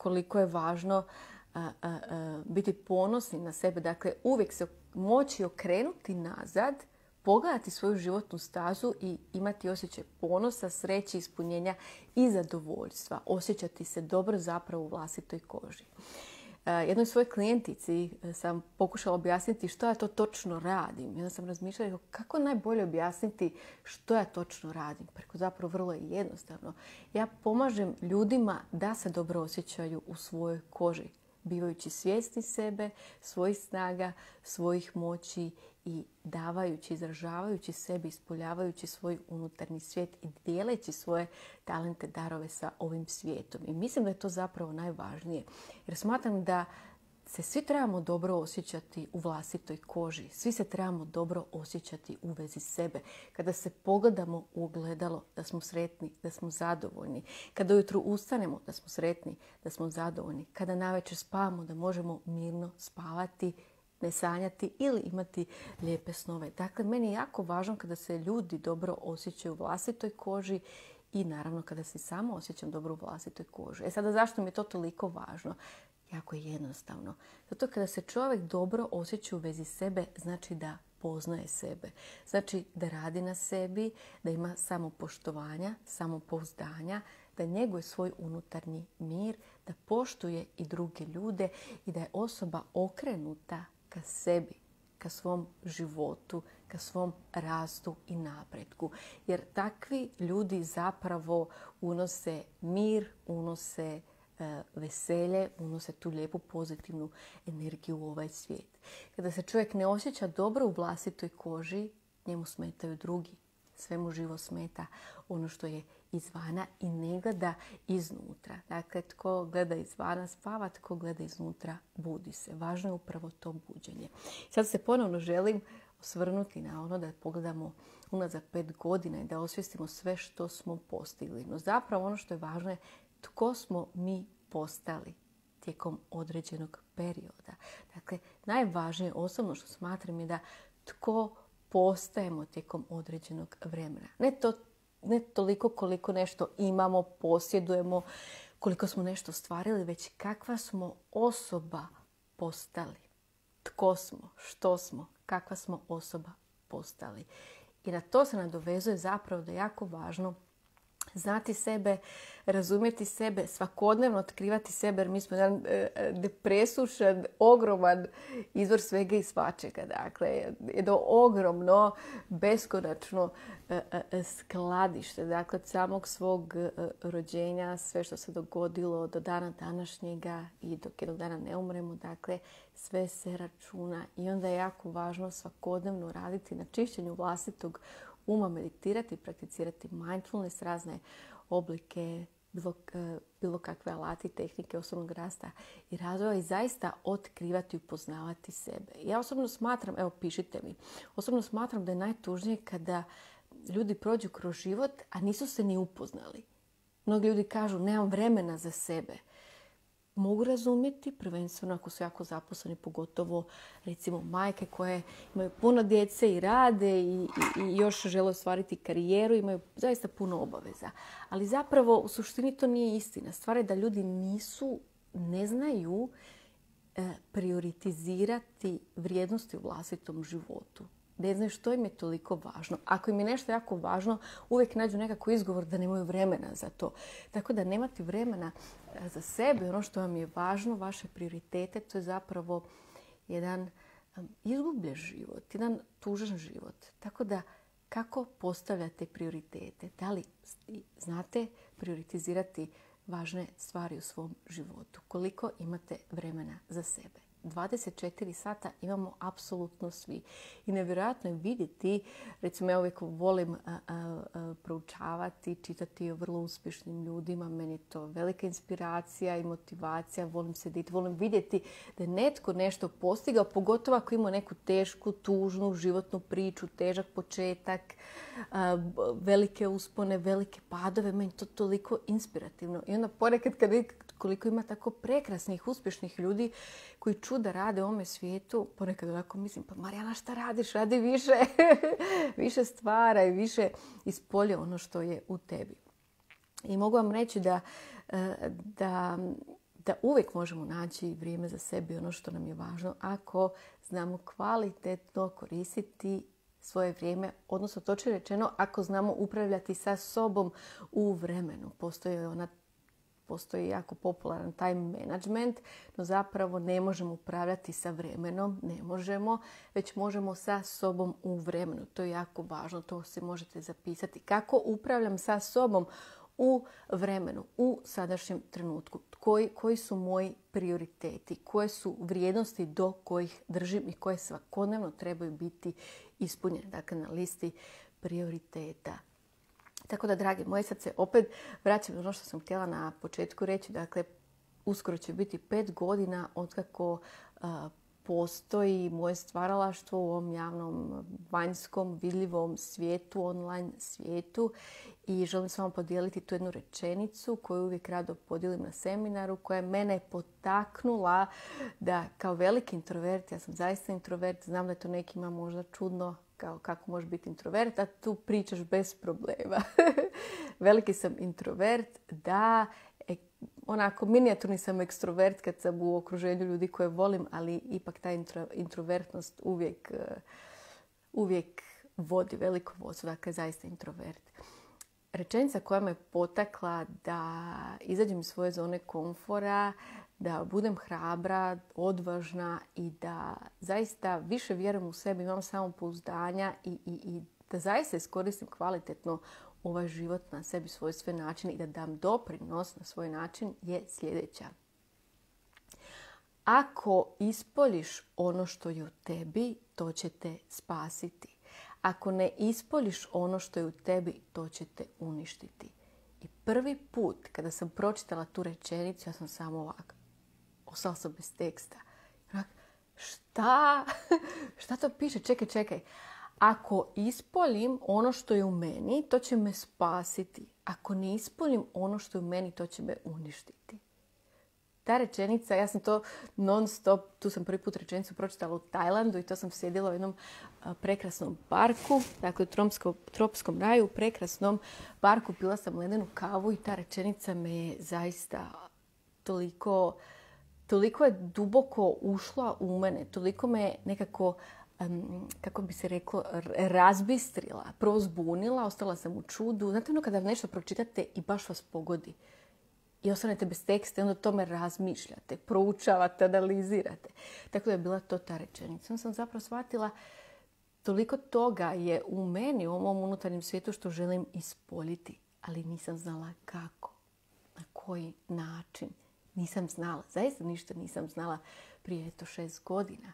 koliko je važno biti ponosni na sebe. Dakle, uvijek se moći okrenuti nazad, pogledati svoju životnu stazu i imati osjećaj ponosa, sreće, ispunjenja i zadovoljstva. Osjećati se dobro zapravo u vlastitoj koži. Jednoj svojoj klijentici sam pokušala objasniti što ja to točno radim. I onda sam razmišljala kako najbolje objasniti što ja točno radim. Preko zapravo vrlo je jednostavno. Ja pomažem ljudima da se dobro osjećaju u svojoj koži, bivajući svjesni sebe, svojih snaga, svojih moći i davajući, izražavajući sebi, ispoljavajući svoj unutarnji svijet i dijeleći svoje talente, darove sa ovim svijetom. I mislim da je to zapravo najvažnije. Jer smatram da se svi trebamo dobro osjećati u vlastitoj koži. Svi se trebamo dobro osjećati u vezi sebe. Kada se pogledamo u ogledalo, da smo sretni, da smo zadovoljni. Kada ujutro ustanemo, da smo sretni, da smo zadovoljni. Kada navečer spavamo, da možemo mirno spavati, ne sanjati ili imati lijepe snove. Dakle, meni je jako važno kada se ljudi dobro osjećaju u vlastitoj koži i naravno kada se samo osjećam dobro u vlastitoj koži. Sada zašto mi je to toliko važno? Jako je jednostavno. Zato kada se čovjek dobro osjeća u vezi sebe, znači da poznaje sebe. Znači da radi na sebi, da ima samopoštovanja, samopouzdanja, da njeguje svoj unutarnji mir, da poštuje i druge ljude i da je osoba okrenuta ka sebi, ka svom životu, ka svom rastu i napretku. Jer takvi ljudi zapravo unose mir, unose veselje, unose tu lijepu pozitivnu energiju u ovaj svijet. Kada se čovjek ne osjeća dobro u vlastitoj koži, njemu smetaju drugi. Sve mu živo smeta ono što je izvana i ne gleda iznutra. Dakle, tko gleda izvana spava, tko gleda iznutra budi se. Važno je upravo to buđenje. Sad se ponovno želim osvrnuti na ono da pogledamo unazad 5 godina i da osvijestimo sve što smo postigli. No zapravo ono što je važno je tko smo mi postali tijekom određenog perioda. Dakle, najvažnije osobno što smatram je da tko postajemo tijekom određenog vremena. Ne toliko koliko nešto imamo, posjedujemo, koliko smo nešto stvarili, već kakva smo osoba postali. Tko smo, što smo, kakva smo osoba postali. I na to se nadovezuje zapravo da je jako važno znati sebe, razumjeti sebe, svakodnevno otkrivati sebe, jer mi smo jedan presušan, ogroman izvor svega i svačega. Dakle, jedno ogromno, beskonačno skladište. Dakle, od samog svog rođenja, sve što se dogodilo do dana današnjega i dok jednog dana ne umremo, dakle, sve se računa. I onda je jako važno svakodnevno raditi na čišćenju vlastitog uma, meditirati, prakticirati mindfulness, razne oblike, bilo kakve alati, tehnike osobnog rasta i razvoja i zaista otkrivati i upoznavati sebe. Ja osobno smatram, evo pišite mi, osobno smatram da je najtužnije kada ljudi prođu kroz život, a nisu se ni upoznali. Mnogi ljudi kažu nemam vremena za sebe. Mogu razumjeti, prvenstveno ako su jako zaposleni, pogotovo recimo majke koje imaju puno djece i rade i još žele ostvariti karijeru, imaju zaista puno obaveza. Ali zapravo u suštini to nije istina. Stvar je da ljudi ne znaju prioritizirati vrijednosti u vlastitom životu. Ne znaju što im je toliko važno. Ako im je nešto jako važno, uvijek nađu nekako izgovor da nemaju vremena za to. Tako da nemati vremena za sebe, ono što vam je važno, vaše prioritete, to je zapravo jedan izgubljen život, jedan tužan život. Tako da kako postavljate prioritete? Da li znate prioritizirati važne stvari u svom životu? Koliko imate vremena za sebe? 24 sata imamo apsolutno svi. I nevjerojatno je vidjeti, recimo ja uvijek volim proučavati, čitati o vrlo uspješnim ljudima. Meni je to velika inspiracija i motivacija. Volim sediti, volim vidjeti da je netko nešto postigao, pogotovo ako ima neku tešku, tužnu životnu priču, težak početak, velike uspone, velike padove. Meni je to toliko inspirativno. I onda ponekad kad vidim koliko ima tako prekrasnih, uspješnih ljudi koji čuda rade u ovome svijetu, ponekad onako mislim, pa Marijana šta radiš? Radi više, više stvara i više ispolje ono što je u tebi. I mogu vam reći da da uvijek možemo naći vrijeme za sebe i ono što nam je važno ako znamo kvalitetno koristiti svoje vrijeme, odnosno točno rečeno ako znamo upravljati sa sobom u vremenu. Postoji jako popularan time management, no zapravo ne možemo upravljati sa vremenom, ne možemo, već možemo sa sobom u vremenu. To je jako važno, to se možete zapisati. Kako upravljam sa sobom u vremenu, u sadašnjem trenutku? Koji su moji prioriteti? Koje su vrijednosti do kojih držim i koje svakodnevno trebaju biti ispunjene? Dakle, na listi prioriteta. Tako da, dragi moji, sad se opet vraćam na ono što sam htjela na početku reći. Dakle, uskoro će biti 5 godina otkako postoji moje stvaralaštvo u ovom javnom, vanjskom, vidljivom svijetu, online svijetu. I želim s vama podijeliti tu jednu rečenicu koju uvijek rado podijelim na seminaru, koja je mene potaknula da kao veliki introvert, ja sam zaista introvert, znam da je to nekima možda čudno, kao kako može biti introvert, a tu pričaš bez problema. Veliki sam introvert, da, onako minijaturni sam ekstrovert kad sam u okruženju ljudi koje volim, ali ipak ta introvertnost uvijek vodi veliko vodstvo, dakle zaista introvert. Rečenica koja me potakla da izađem iz svoje zone komfora, da budem hrabra, odvažna i da zaista više vjerujem u sebe, imam samopouzdanja i da zaista iskoristim kvalitetno ovaj život na sebi svojstven način i da dam doprinos na svoj način je sljedeća. Ako ispoljiš ono što je u tebi, to će te spasiti. Ako ne ispoljiš ono što je u tebi, to će te uništiti. I prvi put kada sam pročitala tu rečenicu, ja sam samo ovako, ostala sam bez teksta. Šta? Šta to piše? Čekaj. Ako ispoljim ono što je u meni, to će me spasiti. Ako ne ispoljim ono što je u meni, to će me uništiti. Ta rečenica, ja sam to non stop, tu sam prvi put rečenicu pročitala u Tajlandu i to sam sjedila u jednom prekrasnom parku, dakle u tropskom raju, u prekrasnom parku, pila sam ledenu kavu i ta rečenica me je zaista toliko je duboko ušla u mene, toliko me nekako, kako bi se reklo, razbistrila, prvo zbunila, ostala sam u čudu. Znate ono kada nešto pročitate i baš vas pogodi i ostanete bez teksta i onda o tome razmišljate, proučavate, analizirate. Tako da je bila to ta rečenica. Onda sam zapravo shvatila toliko toga je u meni, u ovom unutarnjem svijetu što želim ispoljiti, ali nisam znala kako, na koji način. Nisam znala, zaista ništa nisam znala prije 6 godina.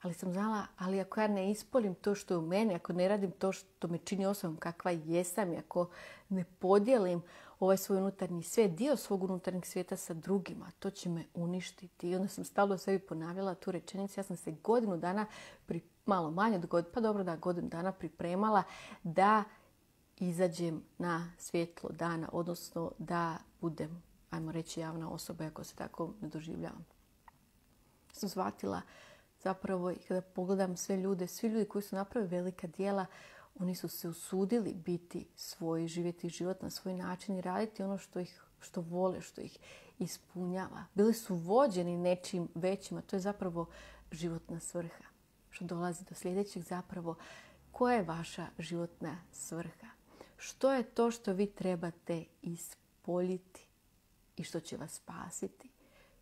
Ali sam znala, ali ako ja ne ispoljim to što je u meni, ako ne radim to što me čini osobom kakva jesam, i ako ne podijelim ovaj svoj unutarnji svijet, dio svog unutarnjeg svijeta sa drugima, to će me uništiti. I onda sam stalno sebi ponavljala tu rečenicu. Ja sam se godinu dana, malo manje od godinu dana pripremala da izađem na svjetlo dana, odnosno da budem, ajmo reći, javna osoba, ako se tako ne doživljavam. Sam shvatila zapravo i kada pogledam sve ljudi koji su napravili velika djela, oni su se usudili biti svoji, živjeti život na svoj način i raditi ono što vole, što ih ispunjava. Bili su vođeni nečim većim, a to je zapravo životna svrha. Što dolazi do sljedećeg zapravo, koja je vaša životna svrha? Što je to što vi trebate ispoljiti i što će vas spasiti?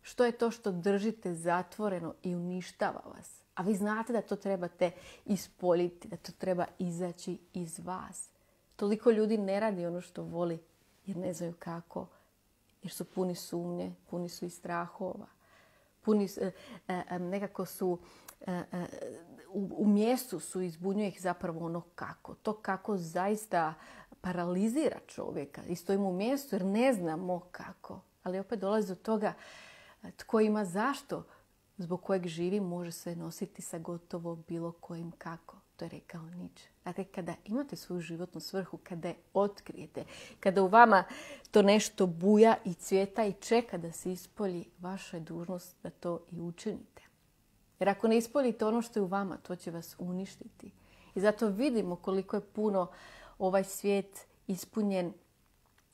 Što je to što držite zatvoreno i uništava vas? A vi znate da to trebate ispoljiti, da to treba izaći iz vas. Toliko ljudi ne radi ono što voli jer ne znaju kako, jer su puni sumnje, puni su i strahova. Nekako su u mjestu su, izbunjuje ih zapravo ono kako. To kako zaista paralizira čovjeka i stojimo u mjestu jer ne znamo kako. Ali opet dolazi do toga tko ima zašto, zbog kojeg živi, može se nositi sa gotovo bilo kojim kako. To je rekao Nietzsche. Dakle, kada imate svoju životnu svrhu, kada je otkrijete, kada u vama to nešto buja i cvjeta i čeka da se ispolji, vaša je dužnost da to i učinite. Jer ako ne ispoljite ono što je u vama, to će vas uništiti. I zato vidimo koliko je puno ovaj svijet ispunjen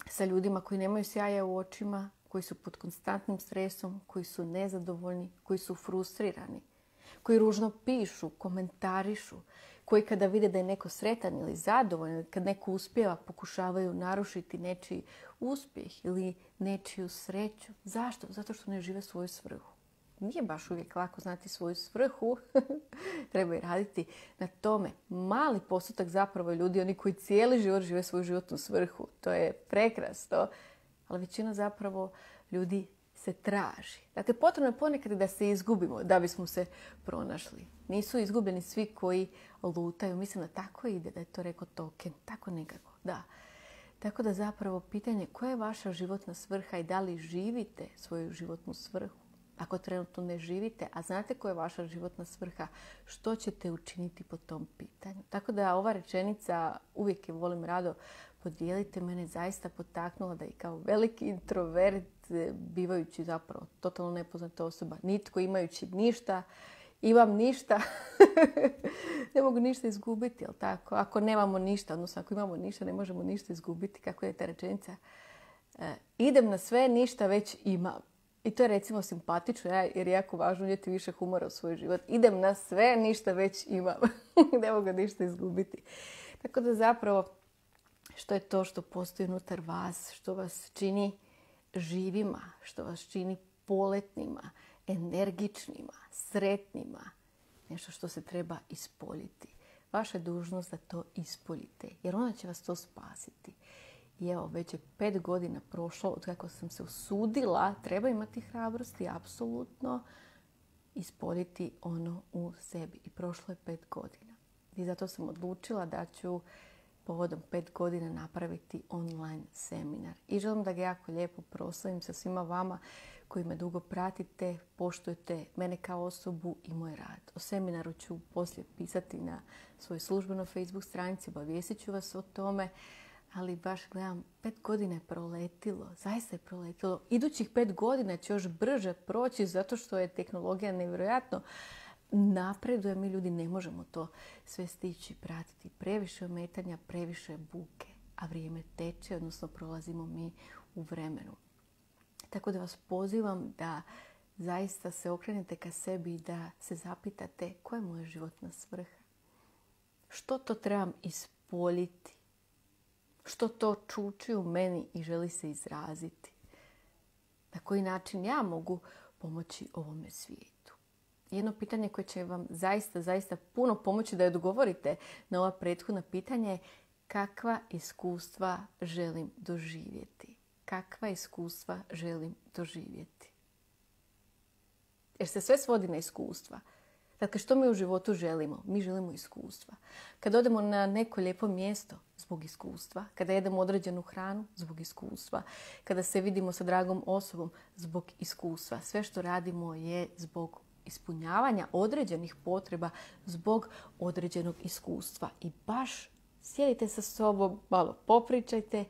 sa ljudima koji nemaju sjaja u očima, koji su pod konstantnim stresom, koji su nezadovoljni, koji su frustrirani, koji ružno pišu, komentarišu, koji kada vide da je neko sretan ili zadovoljan, kad neko uspijeva, pokušavaju narušiti nečiji uspjeh ili nečiju sreću. Zašto? Zato što ne žive svoju svrhu. Nije baš uvijek lako znati svoju svrhu. Treba i raditi na tome. Mali postotak zapravo ljudi, oni koji cijeli život žive svoju životnu svrhu. To je prekrasno. Ali većina zapravo ljudi se traži. Dakle, potrebno je ponekad da se izgubimo da bismo se pronašli. Nisu izgubljeni svi koji lutaju. Mislim da tako ide, da je to rekao Tolkien. Tako nekako, da. Tako da zapravo pitanje koja je vaša životna svrha i da li živite svoju životnu svrhu. Ako trenutno ne živite, a znate koja je vaša životna svrha, što ćete učiniti po tom pitanju. Tako da ova rečenica, uvijek je volim rado podijeliti, mene zaista potaknula da i kao veliki introvert, bivajući zapravo totalno nepoznata osoba, nitko imajući ništa, imam ništa, ne mogu ništa izgubiti, jel tako? Ako nemamo ništa, odnosno ako imamo ništa, ne možemo ništa izgubiti. Kako je ta rečenica? Idem na sve, ništa već imam. I to je recimo simpatično, jer je jako važno unijeti više humora u svoj život. Idem na sve, ništa već imam. Ne mogu ništa izgubiti. Tako da zapravo, što je to što postoji unutar vas, što vas čini živima, što vas čini poletnima, energičnima, sretnima, nešto što se treba ispoljiti. Vaša je dužnost da to ispoljite, jer ona će vas to spasiti. I evo, već je 5 godina prošlo od kako sam se usudila, treba imati hrabrosti, apsolutno, ispoljiti ono u sebi. I prošlo je 5 godina. I zato sam odlučila da ću povodom 5 godina napraviti online seminar. I želim da ga jako lijepo proslavim sa svima vama koji me dugo pratite, poštujete mene kao osobu i moj rad. O seminaru ću poslije pisati na svojoj službenoj Facebook stranici, obavijestit ću vas o tome. Ali baš gledam, 5 godina je proletilo, zaista je proletilo. Idućih 5 godina će još brže proći zato što je tehnologija nevjerojatno napreduje. Mi ljudi ne možemo to sve stići, pratiti. Previše ometanja, previše buke, a vrijeme teče, odnosno prolazimo mi u vremenu. Tako da vas pozivam da zaista se okrenete ka sebi i da se zapitate koja je moja životna svrha. Što to trebam ispoljiti? Što to čuči u meni i želi se izraziti? Na koji način ja mogu pomoći ovome svijetu? Jedno pitanje koje će vam zaista puno pomoći da odgovorite na ova prethodna pitanja je kakva iskustva želim doživjeti? Kakva iskustva želim doživjeti? Jer se sve svodi na iskustva. Dakle, što mi u životu želimo? Mi želimo iskustva. Kada odemo na neko lijepo mjesto, zbog iskustva. Kada jedemo određenu hranu, zbog iskustva. Kada se vidimo sa dragom osobom, zbog iskustva. Sve što radimo je zbog ispunjavanja određenih potreba, zbog određenog iskustva. I baš sjedite sa sobom, malo popričajte,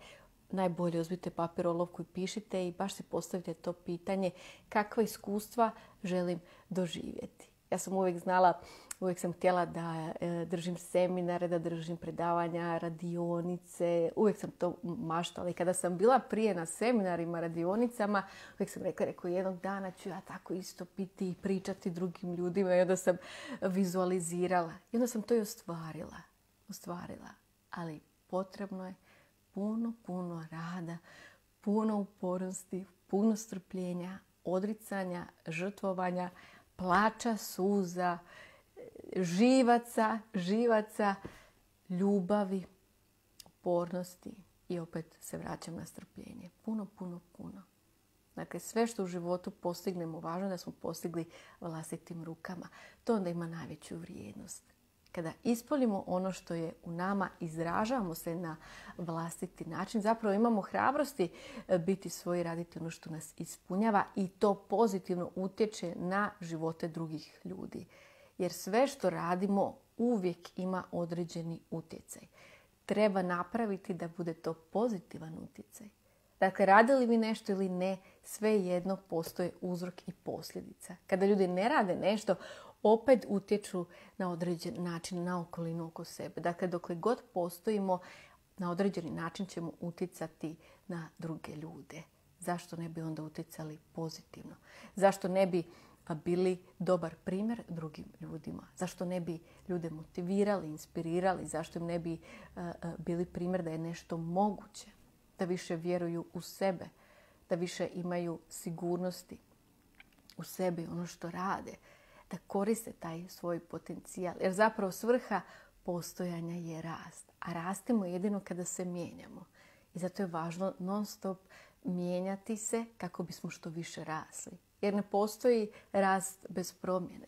najbolje uzmite papir, olovku i pišite i baš se postavite to pitanje kakva iskustva želim doživjeti. Ja sam uvijek znala, uvijek sam htjela da držim seminare, da držim predavanja, radionice. Uvijek sam to maštala. I kada sam bila prije na seminarima, radionicama, uvijek sam rekla jednog dana ću ja tako isto biti i pričati drugim ljudima. I onda sam vizualizirala. I onda sam to i ostvarila. Ali potrebno je puno rada, puno upornosti, puno strpljenja, odricanja, žrtvovanja, plača, suza, živaca, ljubavi, upornosti i opet se vraćam na strpljenje. Puno. Dakle, sve što u životu postignemo, važno da smo postigli vlastitim rukama. To onda ima najveću vrijednost. Kada ispoljimo ono što je u nama, izražavamo se na vlastiti način, zapravo imamo hrabrosti biti svoji, raditi ono što nas ispunjava i to pozitivno utječe na živote drugih ljudi. Jer sve što radimo uvijek ima određeni utjecaj. Treba napraviti da bude to pozitivan utjecaj. Dakle, radili vi nešto ili ne, svejedno postoje uzrok i posljedica. Kada ljudi ne rade nešto, opet utječu na određen način na okolinu oko sebe. Dakle, dokle god postojimo, na određeni način ćemo utjecati na druge ljude. zašto ne bi onda utjecali pozitivno? Zašto ne bi bili dobar primjer drugim ljudima? Zašto ne bi ljude motivirali, inspirirali? Zašto im ne bi bili primjer da je nešto moguće? Da više vjeruju u sebe, da više imaju sigurnosti u sebi, ono što rade, da koriste taj svoj potencijal. Jer zapravo svrha postojanja je rast. A rastemo jedino kada se mijenjamo. I zato je važno non stop mijenjati se kako bismo što više rasli. Jer ne postoji rast bez promjene.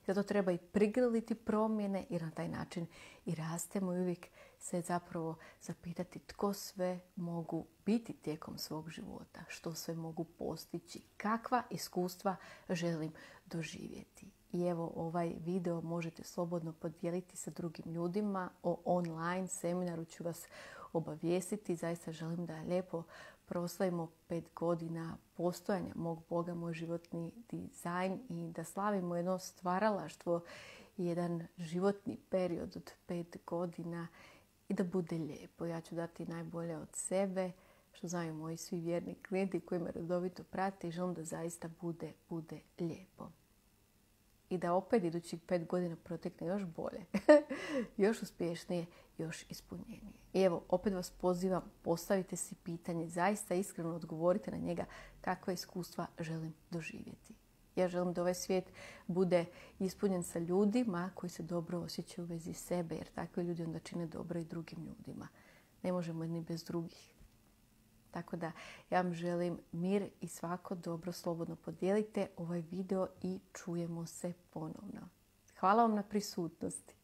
Zato treba i prigrliti promjene jer na taj način i rastemo i uvijek se zapravo zapitati tko sve mogu biti tijekom svog života, što sve mogu postići, kakva iskustva želim doživjeti. I evo ovaj video možete slobodno podijeliti sa drugim ljudima. O online seminaru ću vas obavijestiti. Zaista želim da lijepo proslavimo 5 godina postojanja mog Boga, moj životni dizajn i da slavimo jedno stvaralaštvo i jedan životni period od 5 godina i da bude lijepo. Ja ću dati najbolje od sebe, što znaju moji svi vjerni klijenti koji me redovito prate i želim da zaista bude lijepo. I da opet idućih 5 godina protekne još bolje, još uspješnije, još ispunjenije. I evo, opet vas pozivam, postavite si pitanje, zaista iskreno odgovorite na njega kakva iskustva želim doživjeti. Ja želim da ovaj svijet bude ispunjen sa ljudima koji se dobro osjećaju u vezi sebe, jer takvi ljudi onda čine dobro i drugim ljudima. Ne možemo jedni bez drugih. Tako da ja vam želim mir i svako dobro. Slobodno podijelite ovaj video i čujemo se ponovno. Hvala vam na prisutnosti.